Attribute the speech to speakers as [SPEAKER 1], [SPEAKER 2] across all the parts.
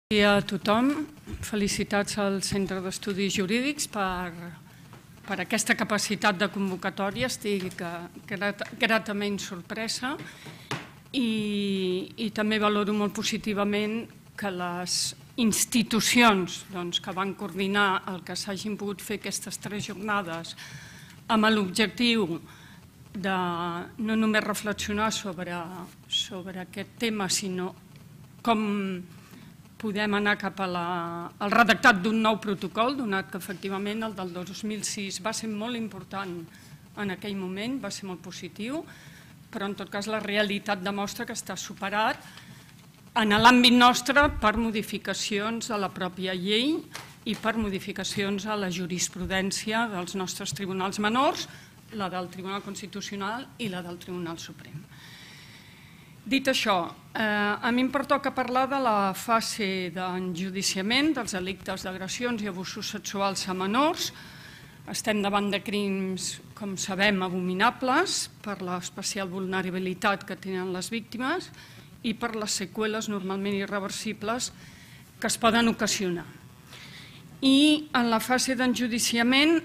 [SPEAKER 1] Dia a tothom. Felicitats al Centre d'Estudis Jurídics per aquesta capacitat de convocatòria. Estic gratament sorpresa i també valoro molt positivament que les institucions que van coordinar el que s'hagin pogut fer aquestes 3 jornades amb l'objectiu de no només reflexionar sobre aquest tema, sinó com podem anar cap al redactat d'un nou protocol, donat que efectivament el del 2006 va ser molt important en aquell moment, va ser molt positiu, però en tot cas la realitat demostra que està superat en l'àmbit nostre per modificacions a la pròpia llei i per modificacions a la jurisprudència dels nostres tribunals menors, la del Tribunal Constitucional i la del Tribunal Suprem. Dit això, a mi em pertoca parlar de la fase d'enjudiciament dels delictes d'agressions i abusos sexuals a menors. Estem davant de crims, com sabem, abominables per l'especial vulnerabilitat que tenen les víctimes i per les seqüeles normalment irreversibles que es poden ocasionar. I en la fase d'enjudiciament,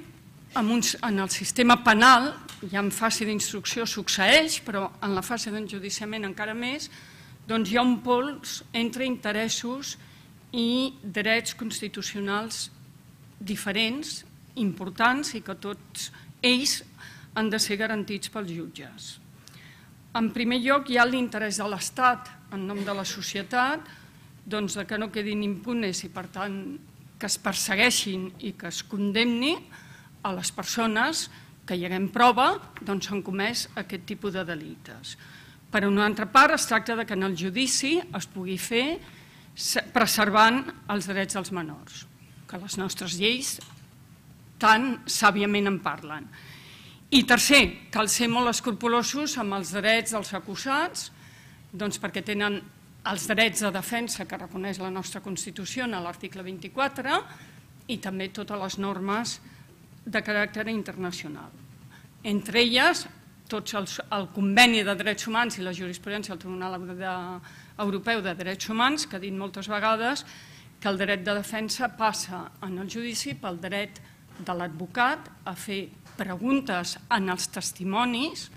[SPEAKER 1] en el sistema penal, ja en fase d'instrucció succeeix, però en la fase d'enjudiciament encara més, doncs hi ha un pols entre interessos i drets constitucionals diferents, importants, i que tots ells han de ser garantits pels jutges. En primer lloc, hi ha l'interès de l'Estat, en nom de la societat, que no quedin impunes i, per tant, que es persegueixin i que es condemni a les persones que hi haguem prova s'han comès aquest tipus de delictes. Per una altra part, es tracta que en el judici es pugui fer preservant els drets dels menors, que les nostres lleis tan sàviament en parlen. I tercer, cal ser molt escrupolosos amb els drets dels acusats, perquè tenen els drets de defensa que reconeix la nostra Constitució en l'article 24 i també totes les normes de caràcter internacional. Entre elles, el Conveni de Drets Humans i la jurisprudència del Tribunal Europeu de Drets Humans, que ha dit moltes vegades que el dret de defensa passa en el judici pel dret de l'advocat a fer preguntes en els testimonis,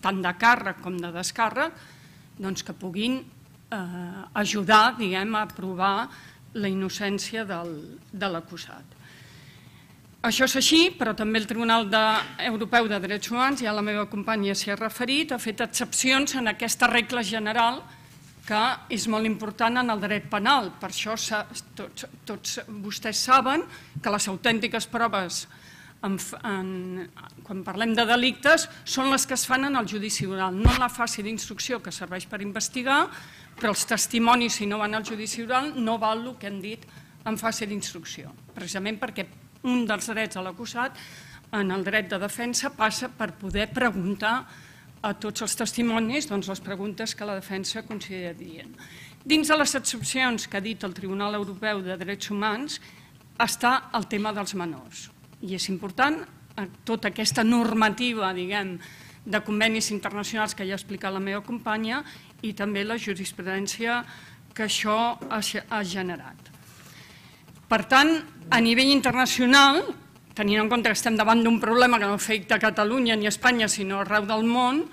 [SPEAKER 1] tant de càrrec com de descàrrec, que puguin ajudar a provar la innocència de l'acusat. Això és així, però també el Tribunal Europeu de Drets Humans, ja la meva companya s'hi ha referit, ha fet excepcions en aquesta regla general que és molt important en el dret penal. Per això tots vostès saben que les autèntiques proves, quan parlem de delictes, són les que es fan en el judici oral, no en la fase d'instrucció que serveix per investigar, però els testimonis, si no van al judici oral, no val el que han dit en fase d'instrucció, precisament perquè un dels drets de l'acusat en el dret de defensa passa per poder preguntar a tots els testimonis les preguntes que la defensa considera adient. Dins de les excepcions que ha dit el Tribunal Europeu de Drets Humans està el tema dels menors. I és important tota aquesta normativa, de convenis internacionals que ja ha explicat la meva companya i també la jurisprudència que això ha generat. Per tant, a nivell internacional, tenint en compte que estem davant d'un problema que no afecta a Catalunya ni a Espanya, sinó arreu del món,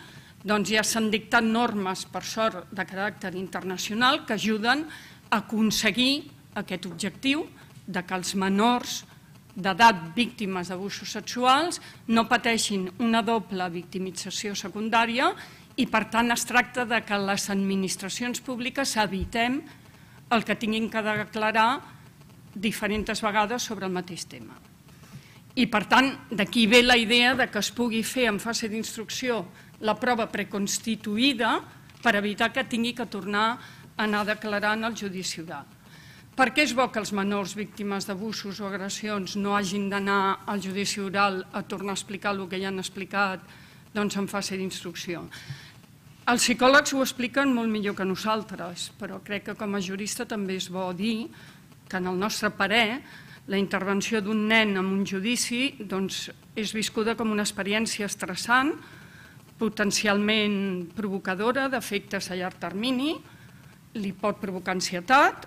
[SPEAKER 1] ja s'han dictat normes, per sort, de caràcter internacional que ajuden a aconseguir aquest objectiu de que els menors d'edat víctimes d'abusos sexuals no pateixin una doble victimització secundària i, per tant, es tracta que les administracions públiques evitem el que tinguin que declarar diferents vegades sobre el mateix tema. I, per tant, d'aquí ve la idea que es pugui fer en fase d'instrucció la prova preconstituïda per evitar que tingui que tornar a anar a declarar en el judici oral. Per què és bo que els menors víctimes d'abusos o agressions no hagin d'anar al judici oral a tornar a explicar el que ja han explicat en fase d'instrucció? Els psicòlegs ho expliquen molt millor que nosaltres, però crec que com a jurista també és bo dir que en el nostre parer la intervenció d'un nen en un judici és viscuda com una experiència estressant, potencialment provocadora d'efectes a llarg termini, li pot provocar ansietat,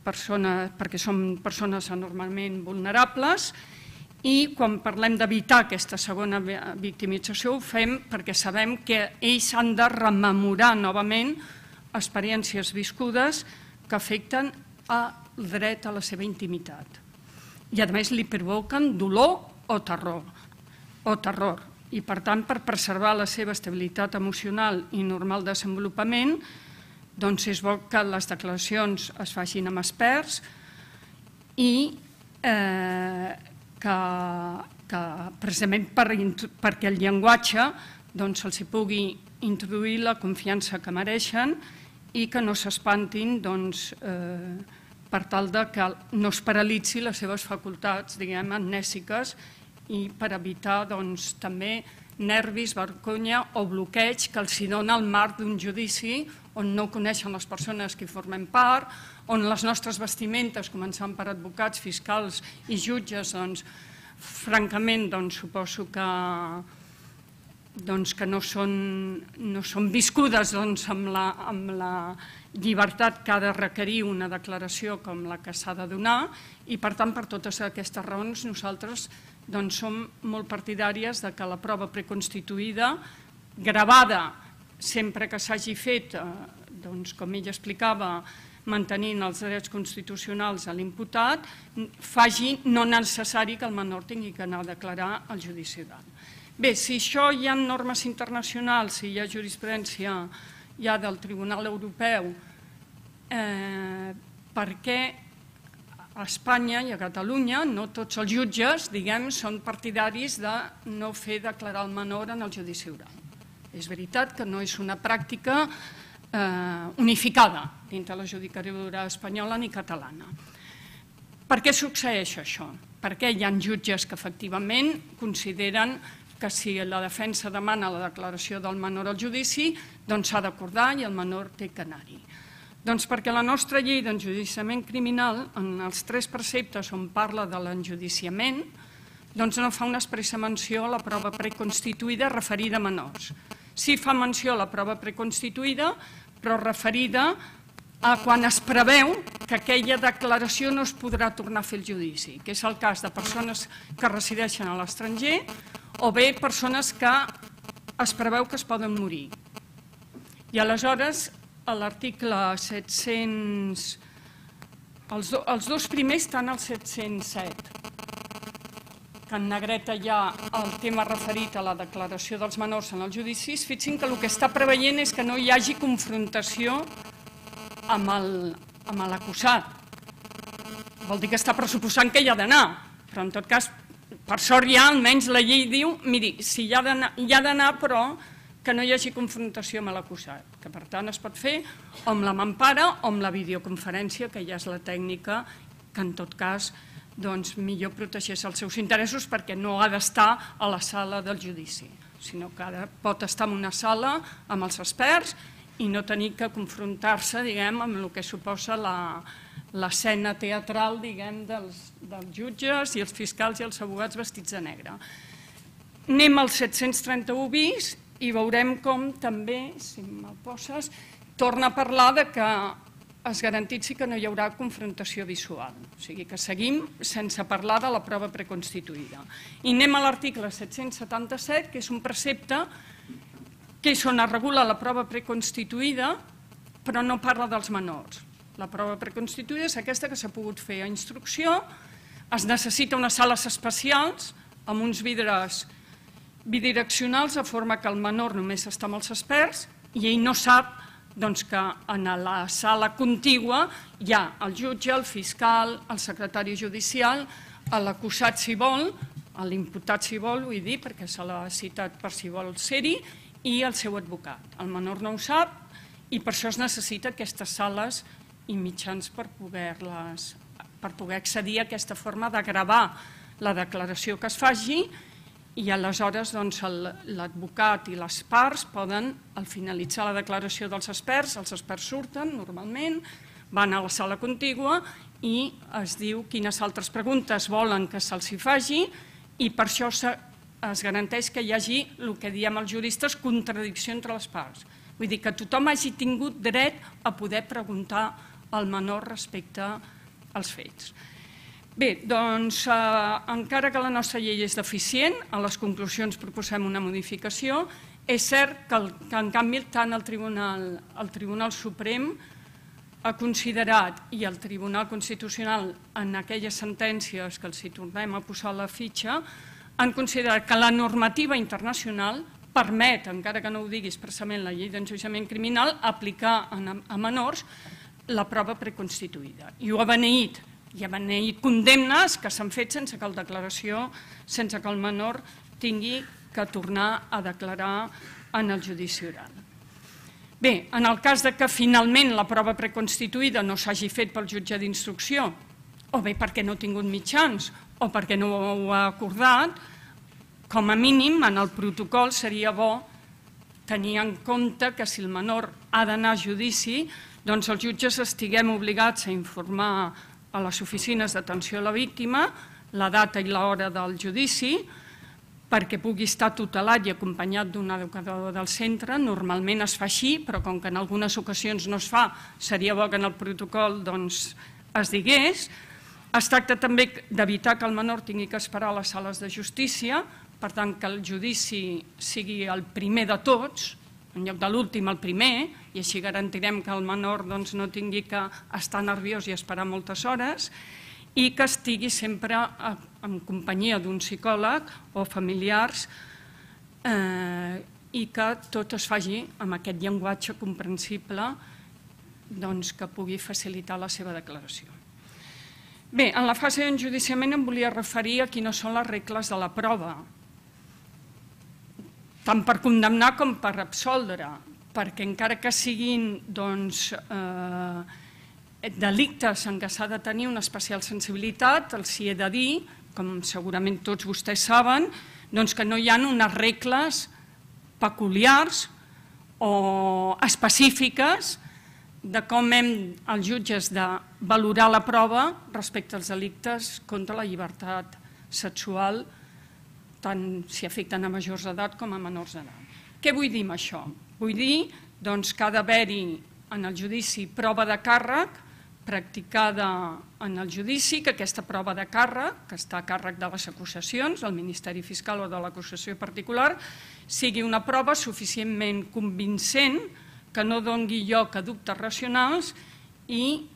[SPEAKER 1] perquè són persones anormalment vulnerables, i quan parlem d'evitar aquesta segona victimització ho fem perquè sabem que ells han de rememorar novament experiències viscudes que afecten el dret a la seva intimitat. I a més li provoquen dolor o terror. I per tant, per preservar la seva estabilitat emocional i normal desenvolupament, doncs és bo que les declaracions es facin amb experts i que precisament perquè el llenguatge els pugui introduir la confiança que mereixen i que no s'espantin per tal que no es paralitzi les seves facultats, diguem, amnèsiques, i per evitar també nervis, vergonya o bloqueig que els dona el marc d'un judici on no coneixen les persones que hi formen part, on les nostres vestimentes, començant per advocats, fiscals i jutges, francament suposo que no són viscudes amb la llibertat que ha de requerir una declaració com la que s'ha de donar, i per tant, per totes aquestes raons, nosaltres som molt partidàries que la prova preconstituïda, gravada sempre que s'hagi fet, com ella explicava, mantenint els drets constitucionals a l'imputat, faci no necessari que el menor tingui que anar a declarar al judici oral. Bé, si això hi ha normes internacionals, si hi ha jurisprudència ja del Tribunal Europeu, per què a Espanya i a Catalunya no tots els jutges, diguem, són partidaris de no fer declarar el menor en el judici oral? És veritat que no és una pràctica unificada dintre la judicatura espanyola ni catalana. Per què succeeix això? Perquè hi ha jutges que efectivament consideren que si la defensa demana la declaració del menor al judici, doncs s'ha d'acordar i el menor té que anar-hi. Doncs perquè la nostra llei d'enjudiciament criminal, en els 3 preceptes on parla de l'enjudiciament, doncs no fa una expressa menció a la prova preconstituïda referida a menors. Sí fa menció a la prova preconstituïda, però referida a quan es preveu que aquella declaració no es podrà tornar a fer el judici, que és el cas de persones que resideixen a l'estranger o bé persones que es preveu que es poden morir. I aleshores, a l'article 700... Els 2 primers estan al 707, que en negreta hi ha el tema referit a la declaració dels menors en els judicis. Fixin que el que està preveient és que no hi hagi confrontació amb l'acusat. Vol dir que està pressuposant que hi ha d'anar, però en tot cas, per sort ja almenys la llei diu, miri, si hi ha d'anar, però que no hi hagi confrontació amb l'acusat, que per tant es pot fer o amb la mampara o amb la videoconferència, que ja és la tècnica que en tot cas millor protegeix els seus interessos perquè no ha d'estar a la sala del judici, sinó que pot estar en una sala amb els experts i no tenir que confrontar-se, diguem, amb el que suposa l'escena teatral, diguem, dels jutges i els fiscals i els advocats vestits de negre. Anem al 731 bis i veurem com també, si me'l poses, torna a parlar que es garantitzi que no hi haurà confrontació visual. O sigui que seguim sense parlar de la prova preconstituïda. I anem a l'article 777, que és un precepte que és on es regula la prova preconstituïda, però no parla dels menors. La prova preconstituïda és aquesta que s'ha pogut fer a instrucció, es necessita unes sales especials amb uns vidres bidireccionals de forma que el menor només està amb els experts i ell no sap que en la sala contigua hi ha el jutge, el fiscal, el secretari judicial, l'acusat si vol, l'imputat si vol, vull dir, perquè se l'ha citat per si vol ser-hi, i el seu advocat. El menor no ho sap i per això es necessita aquestes sales i mitjans per poder accedir a aquesta forma de gravar la declaració que es faci i aleshores l'advocat i les parts poden, al finalitzar la declaració dels experts, els experts surten normalment, van a la sala contigua i es diu quines altres preguntes volen que se'ls faci i per això es garanteix que hi hagi el que diem els juristes contradicció entre les parts. Vull dir que tothom hagi tingut dret a poder preguntar al menor respecte als fets. Bé, doncs, encara que la nostra llei és deficient, a les conclusions proposem una modificació. És cert que, en canvi, tant el Tribunal Suprem ha considerat, i el Tribunal Constitucional, en aquelles sentències que els hi tornem a posar la fitxa, han considerat que la normativa internacional permet, encara que no ho digui expressament la llei d'enjudiciament criminal, aplicar a menors la prova preconstituïda. I ho ha beneït. Hi ha beneït condemnes que s'han fet sense que el menor tingui que tornar a declarar en el judici oral. Bé, en el cas que finalment la prova preconstituïda no s'hagi fet pel jutge d'instrucció, o bé perquè no ha tingut mitjans, o perquè no ho ha acordat, com a mínim en el protocol seria bo tenir en compte que si el menor ha d'anar a judici, doncs els jutges estiguem obligats a informar a les oficines d'atenció a la víctima la data i l'hora del judici, perquè pugui estar tutelat i acompanyat d'un educador del centre. Normalment es fa així, però com que en algunes ocasions no es fa, seria bo que en el protocol es digués. Es tracta també d'evitar que el menor tingui que esperar a les sales de justícia, per tant que el judici sigui el primer de tots, en lloc de l'últim el primer, i així garantirem que el menor no tingui que estar nerviós i esperar moltes hores, i que estigui sempre en companyia d'un psicòleg o familiars i que tot es faci amb aquest llenguatge comprensible que pugui facilitar la seva declaració. Bé, en la fase d'enjudiciament em volia referir a quines són les regles de la prova, tant per condemnar com per absoldre, perquè encara que siguin delictes en què s'ha de tenir una especial sensibilitat, els hi he de dir, com segurament tots vostès saben, que no hi ha unes regles peculiars o específiques de com hem, els jutges, de valorar la prova respecte als delictes contra la llibertat sexual, tant si afecten a majors d'edat com a menors d'edat. Què vull dir amb això? Vull dir que ha d'haver-hi en el judici prova de càrrec practicada en el judici, que aquesta prova de càrrec, que està a càrrec de les acusacions, del Ministeri Fiscal o de l'acusació particular, sigui una prova suficientment convincent que no doni lloc a dubtes racionals i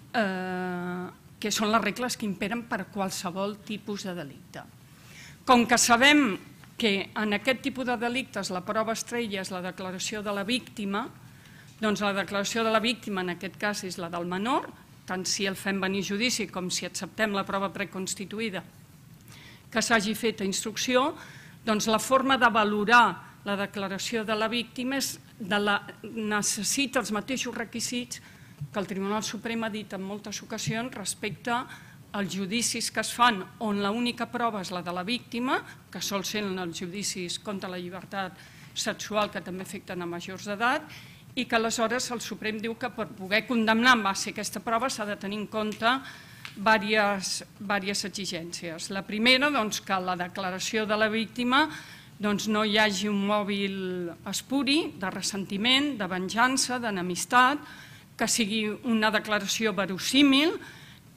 [SPEAKER 1] que són les regles que imperen per a qualsevol tipus de delicte. Com que sabem que en aquest tipus de delictes la prova estrella és la declaració de la víctima, doncs la declaració de la víctima en aquest cas és la del menor, tant si el fem venir a judici com si acceptem la prova preconstituïda que s'hagi fet a instrucció, doncs la forma de valorar la declaració de la víctima necessita els mateixos requisits que el Tribunal Suprem ha dit en moltes ocasions respecte als judicis que es fan on l'única prova és la de la víctima, que sol ser en els judicis contra la llibertat sexual que també afecten a majors d'edat, i que aleshores el Suprem diu que per poder condemnar en base a aquesta prova s'ha de tenir en compte diverses exigències. La primera, que la declaració de la víctima no hi hagi un mòbil espuri de ressentiment, de venjança, d'enemistat, que sigui una declaració verossímil,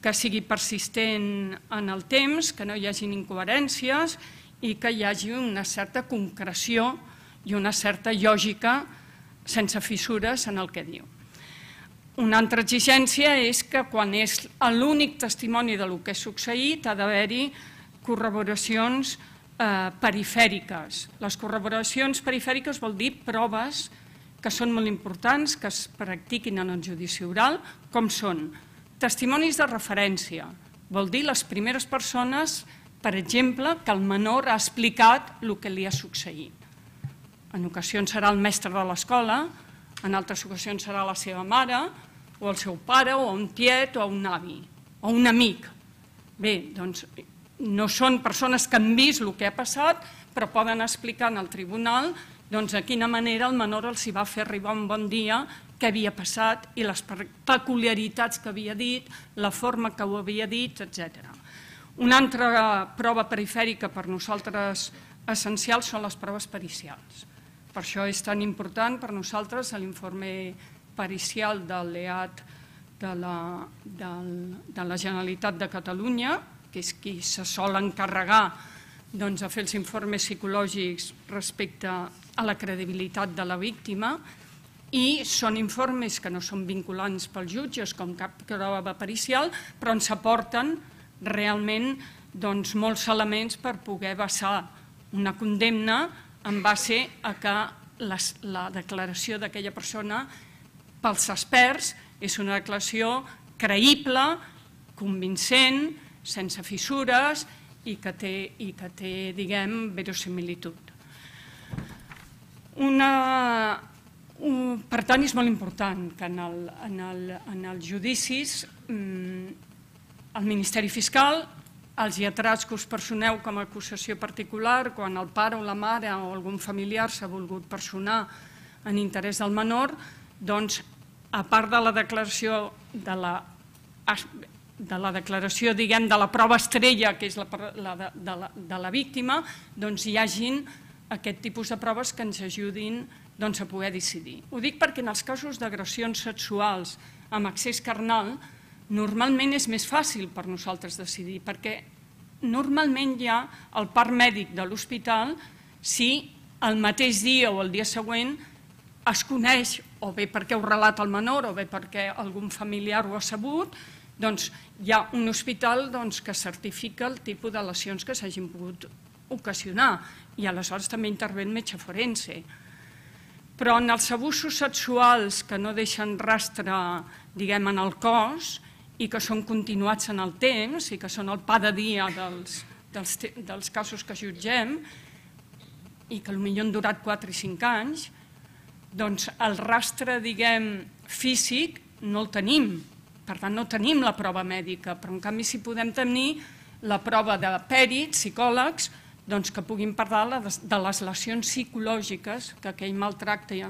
[SPEAKER 1] que sigui persistent en el temps, que no hi hagin incoherències i que hi hagi una certa concreció i una certa lògica sense fissures en el que diu. Una altra exigència és que quan és l'únic testimoni del que ha succeït ha d'haver-hi corroboracions perifèriques. Les corroboracions perifèriques vol dir proves que són molt importants, que es practiquin en el judici oral, com són testimonis de referència. Vol dir les primeres persones, per exemple, que el menor ha explicat el que li ha succeït. En ocasions serà el mestre de l'escola, en altres ocasions serà la seva mare, o el seu pare, o un tiet, o un avi, o un amic. Bé, doncs no són persones que han vist el que ha passat, però poden explicar en el tribunal de quina manera el menor els hi va fer arribar un bon dia, què havia passat i les peculiaritats que havia dit, la forma que ho havia dit, etc. Una altra prova perifèrica per nosaltres essencial són les proves pericials. Per això és tan important per nosaltres l'informe pericial del LEAT de la Generalitat de Catalunya, que és qui se sol encarregar de fer els informes psicològics respecte a la credibilitat de la víctima, i són informes que no són vinculants pels jutges com cap prova pericial, però ens aporten realment molts elements per poder basar una condemna en base a que la declaració d'aquella persona pels experts és una declaració creïble, convincent, sense fissures i que té, diguem, verosimilitud. Per tant, és molt important que en els judicis el Ministeri Fiscal, els lletrats que us personeu com a acusació particular, quan el pare o la mare o algun familiar s'ha volgut personar en interès del menor, doncs, a part de la declaració diguem, de la prova estrella, que és la de la víctima, doncs hi hagin aquest tipus de proves que ens ajudin a poder decidir. Ho dic perquè en els casos d'agressions sexuals amb accés carnal normalment és més fàcil per nosaltres decidir, perquè normalment hi ha el part mèdic de l'hospital si el mateix dia o el dia següent es coneix, o bé perquè ho relata el menor o bé perquè algun familiar ho ha sabut, doncs hi ha un hospital que certifica el tipus de lesions que s'hagin pogut ocasionar i aleshores també intervé el metge forense. Però en els abusos sexuals que no deixen rastre, diguem, en el cos i que són continuats en el temps i que són el pa de dia dels casos que jutgem i que potser han durat 4 i 5 anys, doncs el rastre, diguem, físic no el tenim. Per tant, no tenim la prova mèdica, però en canvi sí podem tenir la prova de pèrits, psicòlegs, que puguin parlar de les lesions psicològiques que aquell maltracte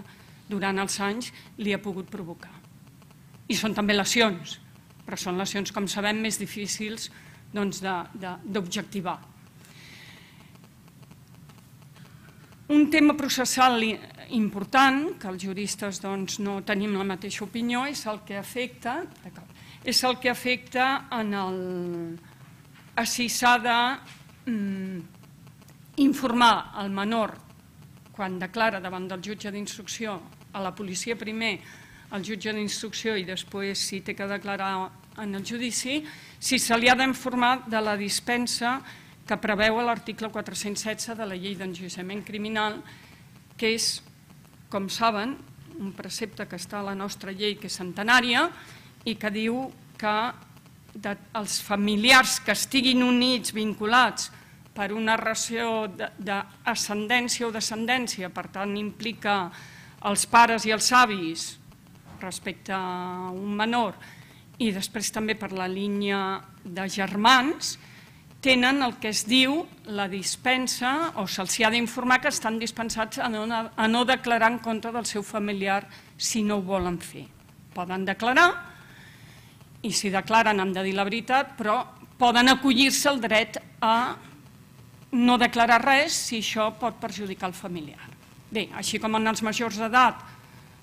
[SPEAKER 1] durant els anys li ha pogut provocar. I són també lesions, però són lesions, com sabem, més difícils d'objectivar. Un tema processal important, que els juristes no tenim la mateixa opinió, és el que afecta a si s'ha d'informar el menor quan declara davant del jutge d'instrucció, a la policia primer, al jutge d'instrucció i després si té que declarar en el judici, si se li ha d'informar de la dispensa que preveu l'article 416 de la llei d'enjudiciament criminal, que és, com saben, un precepte que està a la nostra llei, que és centenària, i que diu que els familiars que estiguin units, vinculats per una relació d'ascendència o descendència, per tant implica els pares i els avis respecte a un menor, i després també per la línia de germans, tenen el que es diu la dispensa, o se'ls ha d'informar que estan dispensats a no declarar en contra del seu familiar si no ho volen fer. Poden declarar, i si declaren han de dir la veritat, però poden acollir-se al dret a no declarar res si això pot perjudicar el familiar. Bé, així com en els majors d'edat,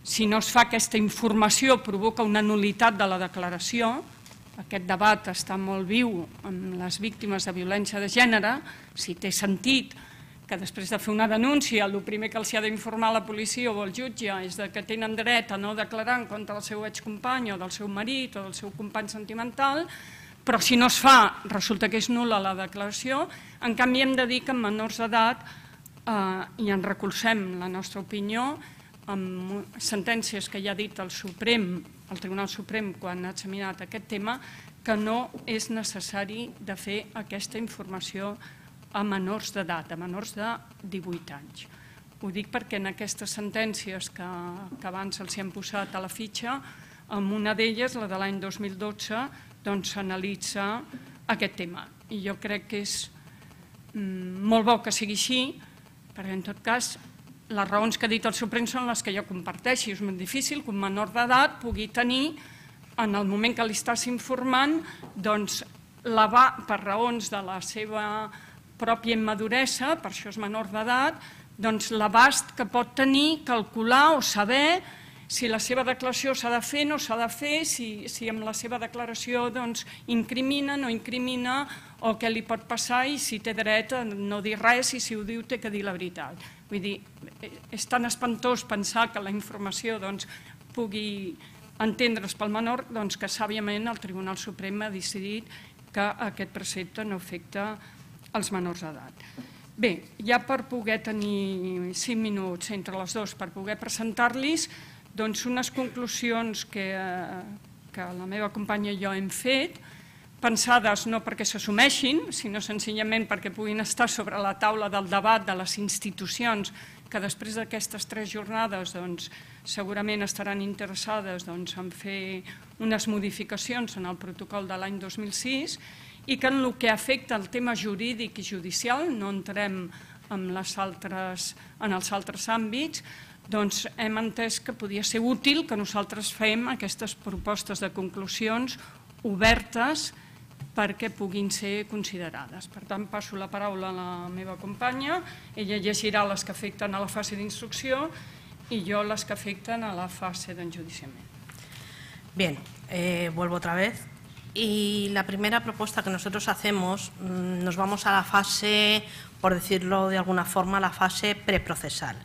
[SPEAKER 1] si no es fa aquesta informació provoca una nul·litat de la declaració. Aquest debat està molt viu amb les víctimes de violència de gènere, si té sentit que després de fer una denúncia el primer que els ha d'informar la policia o el jutge és que tenen dret a no declarar en contra del seu excompany o del seu marit o del seu company sentimental, però si no es fa resulta que és nul·la la declaració. En canvi hem de dir que en menors d'edat, i en recolzem la nostra opinió, amb sentències que ja ha dit el Tribunal Suprem quan ha examinat aquest tema, que no és necessari de fer aquesta informació a menors d'edat, a menors de 18 anys. Ho dic perquè en aquestes sentències que abans els han posat a la fitxa, en una d'elles, la de l'any 2012, s'analitza aquest tema. I jo crec que és molt bo que sigui així, perquè en tot cas les raons que ha dit el Suprem són les que jo comparteixo. És molt difícil que un menor d'edat pugui tenir, en el moment que li estàs informant, per raons de la seva pròpia immaduresa, per això és menor d'edat, doncs, l'abast que pot tenir, calcular o saber si la seva declaració s'ha de fer o no s'ha de fer, si amb la seva declaració incrimina, no incrimina, o què li pot passar i si té dret a no dir res i si ho diu té que dir la veritat. Vull dir, és tan espantós pensar que la informació pugui entendre's pel menor que sàviament el Tribunal Suprem ha decidit que aquest precepte no afecta els menors d'edat. Bé, ja per poder tenir 5 minuts entre les dues per poder presentar-los, unes conclusions que la meva companya i jo hem fet, pensades no perquè s'assumeixin, sinó senzillament perquè puguin estar sobre la taula del debat de les institucions que després d'aquestes 3 jornades segurament estaran interessades en fer unes modificacions en el protocol de l'any 2006 i que en el que afecta el tema jurídic i judicial, no entrem en els altres àmbits, hem entès que podia ser útil que nosaltres fem aquestes propostes de conclusions obertes perquè puguin ser considerades. Per tant, passo la paraula a la meva companya, ella llegirà les que afecten a la fase d'instrucció i jo les que afecten a la fase d'enjudiciament.
[SPEAKER 2] Bien, vuelvo otra vez. Y la primera propuesta que nosotros hacemos, nos vamos a la fase, por decirlo de alguna forma, la fase preprocesal.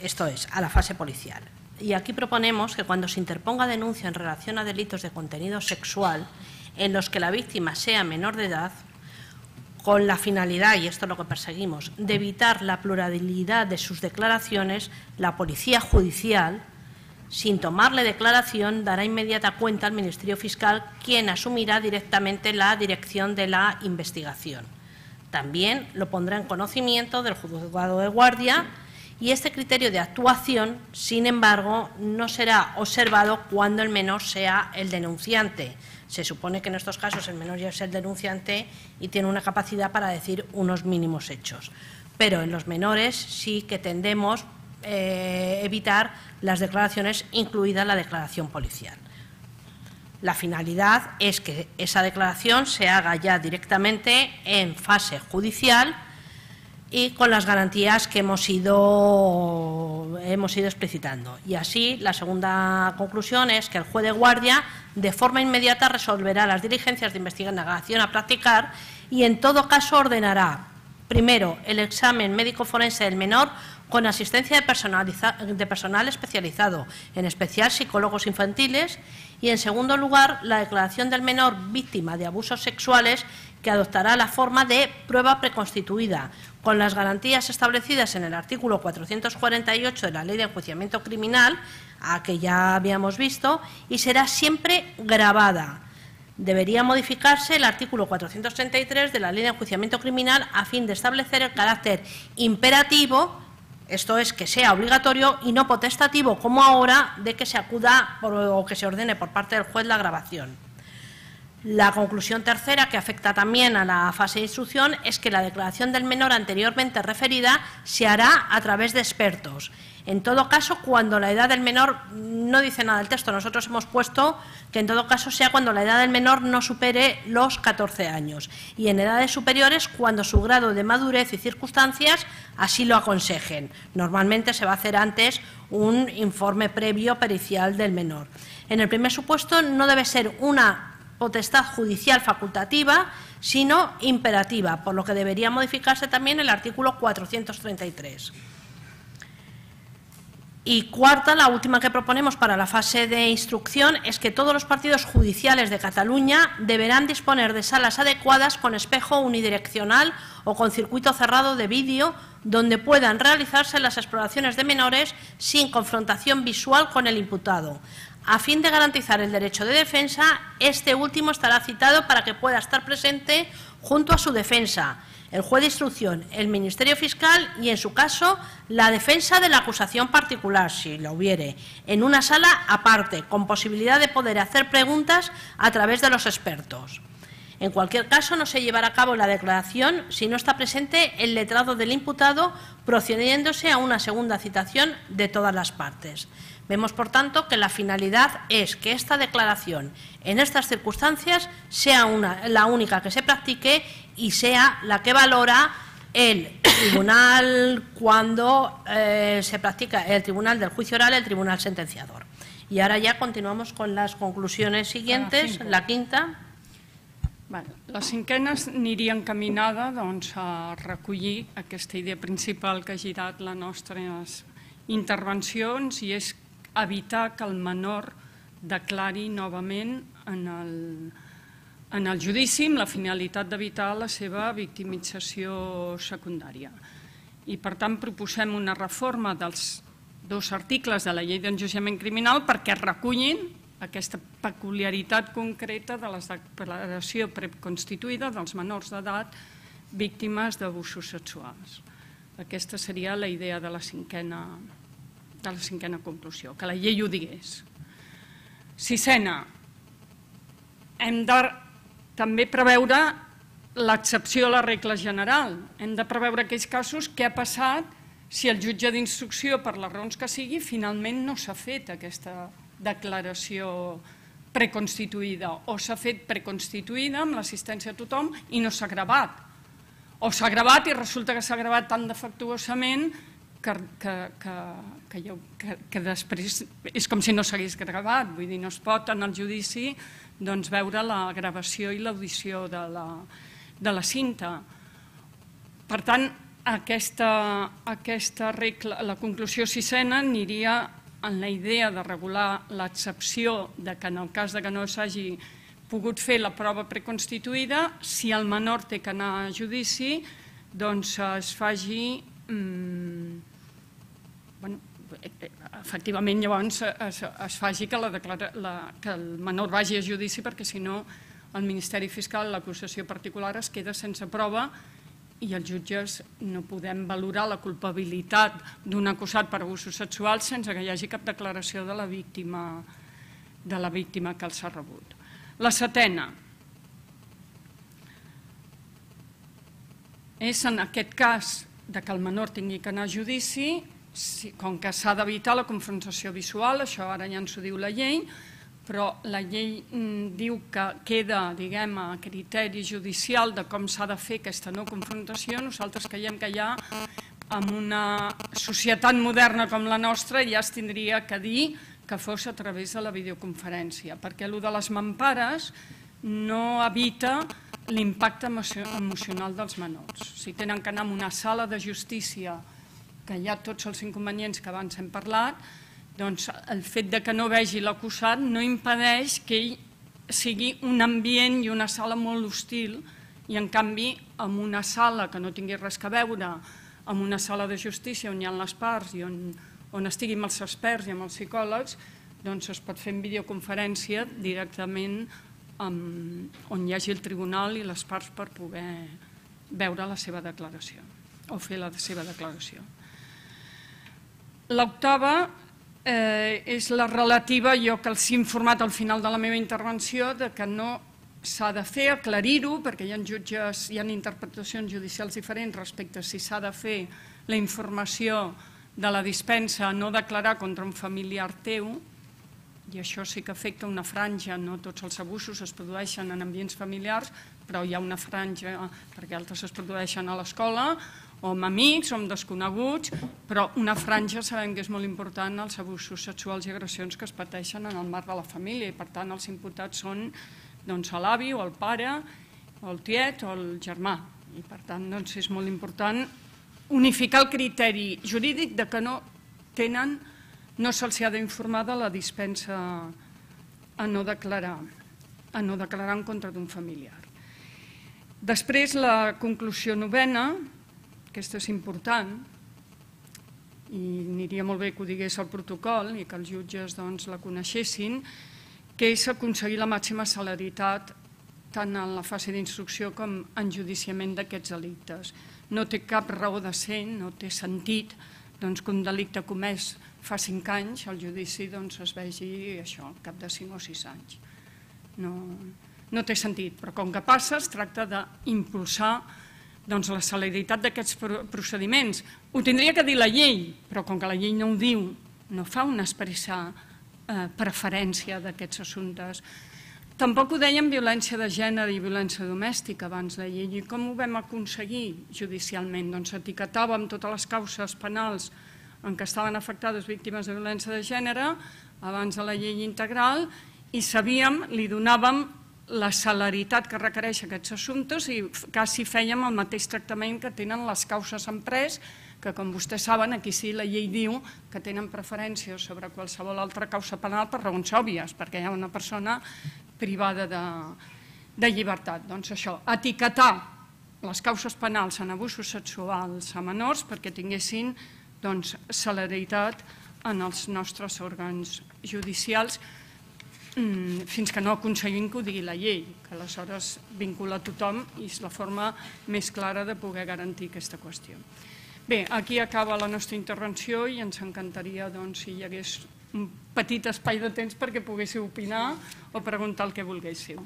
[SPEAKER 2] Esto es, a la fase policial. Y aquí proponemos que cuando se interponga denuncia en relación a delitos de contenido sexual en los que la víctima sea menor de edad, con la finalidad, y esto es lo que perseguimos, de evitar la pluralidad de sus declaraciones, la policía judicial, sin tomarle declaración, dará inmediata cuenta al Ministerio Fiscal, quien asumirá directamente la dirección de la investigación. También lo pondrá en conocimiento del juzgado de guardia y este criterio de actuación, sin embargo, no será observado cuando el menor sea el denunciante. Se supone que en estos casos el menor ya es el denunciante y tiene una capacidad para decir unos mínimos hechos. Pero en los menores sí que tendemos a evitar las declaraciones, incluida la declaración policial. La finalidad es que esa declaración se haga ya directamente en fase judicial y con las garantías que hemos ido explicitando. Y así, la segunda conclusión es que el juez de guardia de forma inmediata resolverá las diligencias de investigación a practicar y en todo caso ordenará, primero, el examen médico forense del menor con asistencia de personal especializado, en especial psicólogos infantiles, y en segundo lugar, la declaración del menor víctima de abusos sexuales que adoptará la forma de prueba preconstituida, con las garantías establecidas en el artículo 448 de la Ley de Enjuiciamiento Criminal, a que ya habíamos visto, y será siempre grabada. Debería modificarse el artículo 433 de la Ley de Enjuiciamiento Criminal a fin de establecer el carácter imperativo, esto es, que sea obligatorio y no potestativo, como ahora, de que se acuda o que se ordene por parte del juez la grabación. La conclusión tercera, que afecta también a la fase de instrucción, es que la declaración del menor anteriormente referida se hará a través de expertos. En todo caso, cuando la edad del menor, no dice nada el texto, nosotros hemos puesto que en todo caso sea cuando la edad del menor no supere los 14 años y en edades superiores cuando su grado de madurez y circunstancias así lo aconsejen. Normalmente se va a hacer antes un informe previo pericial del menor. En el primer supuesto no debe ser una potestad judicial facultativa, sino imperativa, por lo que debería modificarse también el artículo 433. Y cuarta, la última que proponemos para la fase de instrucción, es que todos los partidos judiciales de Cataluña deberán disponer de salas adecuadas con espejo unidireccional o con circuito cerrado de vídeo, donde puedan realizarse las exploraciones de menores sin confrontación visual con el imputado. A fin de garantizar el derecho de defensa, este último estará citado para que pueda estar presente junto a su defensa, el juez de instrucción, el Ministerio Fiscal y, en su caso, la defensa de la acusación particular, si la hubiere, en una sala aparte, con posibilidad de poder hacer preguntas a través de los expertos. En cualquier caso, no se llevará a cabo la declaración si no está presente el letrado del imputado, procediéndose a una segunda citación de todas las partes. Vemos, por tanto, que la finalidad es que esta declaración, en estas circunstancias, sea la única que se practique y sea la que valora el tribunal cuando se practica el tribunal del juicio oral, el tribunal sentenciador. Y ahora ya continuamos con las conclusiones siguientes. La quinta.
[SPEAKER 1] La cinquena aniria encaminada a recollir aquesta idea principal que ha girat les nostres intervencions, i és evitar que el menor declari novament en el judici amb la finalitat d'evitar la seva victimització secundària. I, per tant, proposem una reforma dels 2 articles de la Llei d'Enjudiciament Criminal perquè recullin aquesta peculiaritat concreta de la declaració preconstituïda dels menors d'edat víctimes d'abusos sexuals. Aquesta seria la idea de la cinquena conclusió, que la llei ho digués. Sisena, hem de també preveure l'excepció a la regla general. Hem de preveure aquells casos que ha passat si el jutge d'instrucció, per les raons que sigui, finalment no s'ha fet aquesta declaració preconstituïda, o s'ha fet preconstituïda amb l'assistència de tothom i no s'ha gravat. O s'ha gravat i resulta que s'ha gravat tan defectuosament que després és com si no s'hagués gravat. Vull dir, no es pot en el judici veure la gravació i l'audició de la cinta. Per tant, aquesta regla, la conclusió sisena, aniria en la idea de regular l'excepció de que en el cas que no s'hagi pogut fer la prova preconstituïda, si el menor té que anar a judici, doncs es faci, efectivament llavors es faci que el menor vagi a judici, perquè si no el Ministeri Fiscal, l'acusació particular, es queda sense prova i els jutges no podem valorar la culpabilitat d'un acusat per abusos sexuals sense que hi hagi cap declaració de la víctima que els ha rebut. La setena és en aquest cas que el menor tingui que anar a judici, com que s'ha d'evitar la confrontació visual, això ara ja ens ho diu la llei, però la llei diu que queda, diguem, a criteri judicial de com s'ha de fer aquesta no confrontació. Nosaltres creiem que ja en una societat moderna com la nostra ja es tindria que dir que fos a través de la videoconferència, perquè allò de les mampares no evita l'impacte emocional dels menors. Si tenen que anar a una sala de justícia, que hi ha tots els inconvenients que abans hem parlat, doncs el fet que no vegi l'acusat no impedeix que ell sigui un ambient i una sala molt hostil, i en canvi en una sala que no tingui res a veure, en una sala de justícia on hi ha les parts i on estiguin els experts i amb els psicòlegs, doncs es pot fer en videoconferència directament on hi hagi el tribunal i les parts per poder veure la seva declaració o fer la seva declaració. L'octava és la relativa, jo que els he informat al final de la meva intervenció, que no s'ha de fer, aclarir-ho, perquè hi ha interpretacions judicials diferents respecte a si s'ha de fer la informació de la dispensa a no declarar contra un familiar teu, i això sí que afecta una franja, no tots els abusos es produeixen en ambients familiars, però hi ha una franja perquè altres es produeixen a l'escola, o amb amics, o amb desconeguts, però una franja sabem que és molt important els abusos sexuals i agressions que es pateixen en el marc de la família, i per tant els imputats són l'avi o el pare, o el tiet o el germà, i per tant és molt important unificar el criteri jurídic de que no se'ls ha d'informar de la dispensa a no declarar en contra d'un familiar. Després, la conclusió novena, aquesta és important, i aniria molt bé que ho digués el protocol i que els jutges la coneixessin, que és aconseguir la màxima celeritat tant en la fase d'instrucció com en judiciament d'aquests delictes. No té cap raó de ser, no té sentit que un delicte comès fa 5 anys, el judici es vegi al cap de 5 o 6 anys. No té sentit, però com que passa es tracta d'impulsar la celeritat d'aquests procediments. Ho tindria que dir la llei, però com que la llei no ho diu, no fa una expressa preferència d'aquests assumptes. Tampoc ho dèiem violència de gènere i violència domèstica abans la llei. I com ho vam aconseguir judicialment? Doncs etiquetàvem totes les causes penals en què estaven afectades víctimes de violència de gènere abans de la llei integral i sabíem, li donàvem la celeritat que requereix aquests assumptes i quasi fèiem el mateix tractament que tenen les causes en pres, que com vostès saben, aquí sí la llei diu que tenen preferència sobre qualsevol altra causa penal per raons òbvies, perquè hi ha una persona privada de llibertat. Doncs això, etiquetar les causes penals en abusos sexuals a menors perquè tinguessin celeritat en els nostres òrgans judicials fins que no aconseguim que ho digui la llei, que aleshores vincula tothom i és la forma més clara de poder garantir aquesta qüestió. Bé, aquí acaba la nostra intervenció i ens encantaria si hi hagués un petit espai de temps perquè poguéssiu opinar o preguntar el que volguéssiu.